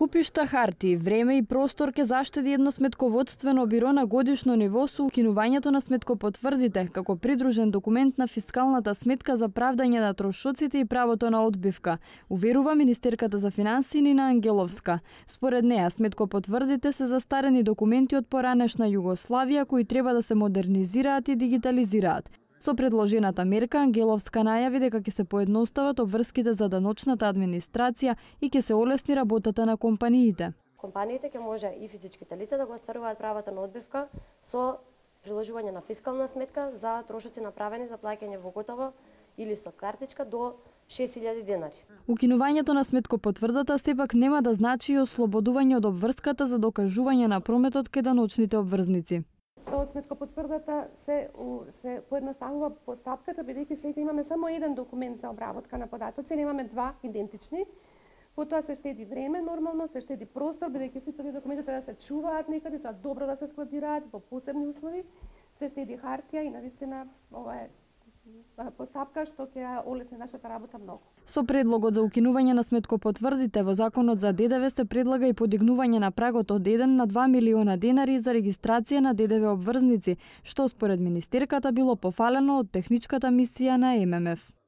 Купишта харти, време и простор ке заштеди едно сметководствено биро на годишно ниво со укинувањето на сметкопотврдите како придружен документ на фискалната сметка за правдање на трошоците и правото на одбивка, уверува министерката за финансии Нина Ангеловска. Според неа, сметкопотврдите се застарени документи од поранешна Југославија кои треба да се модернизираат и дигитализираат. Со предложената мерка, Ангеловска најави дека ќе се поедностават обврските за даночната администрација и ќе се олесни работата на компаниите. Компаниите ќе може и физичките лица да го остваруваат правата на одбивка со приложување на фискална сметка за трошоци направени за плаќање во готово или со картичка до 6000 денари. Укинувањето на сметкопотврдата сепак нема да значи и ослободување од обврската за докажување на прометот кај даночните обврзници. Со сметкопотврдата се поедноставува постапката, бидејќи сега имаме само еден документ за обработка на податоци, немаме два идентични. Потоа се штеди време, нормално се штеди простор, бидејќи сите овие документи треба да се чуваат некаде, тоа добро да се складираат во посебни услови, се штеди хартија и навистина ова е постапка што ќе олесни нашата работа многу. Со предлогот за укинување на сметкопотврдите во законот за ДДВ се предлага и подигнување на прагот од 1 на 2 милиона денари за регистрација на ДДВ обврзници, што според министерката било пофалено од техничката мисија на ММФ.